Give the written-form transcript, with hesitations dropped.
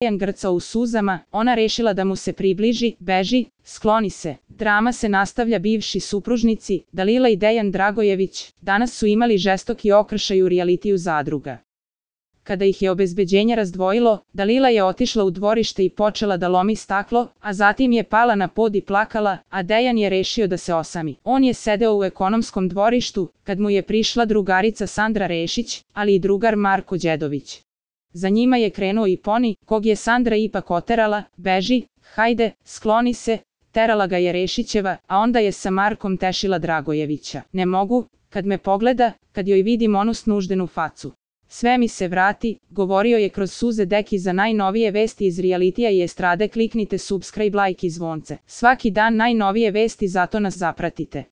Dejan grcao u suzama, ona rešila da mu se približi, beži, skloni se. Drama se nastavlja. Bivši supružnici, Dalila i Dejan Dragojević, danas su imali žestoki okršaj u rijalitiju Zadruga. Kada ih je obezbeđenje razdvojilo, Dalila je otišla u dvorište i počela da lomi staklo, a zatim je pala na pod i plakala, a Dejan je rešio da se osami. On je sedeo u ekonomskom dvorištu, kad mu je prišla drugarica Sandra Rešić, ali i drugar Marko Đedović. Za njima je krenuo i Poni, kog je Sandra ipak oterala, beži, hajde, skloni se, terala ga je Rešićeva, a onda je sa Markom tešila Dragojevića. Ne mogu, kad me pogleda, kad joj vidim onu snuždenu facu. Sve mi se vrati, govorio je kroz suze Deki. Za najnovije vesti iz rijalitija i estrade kliknite subscribe, like i zvonce. Svaki dan najnovije vesti, zato nas zapratite.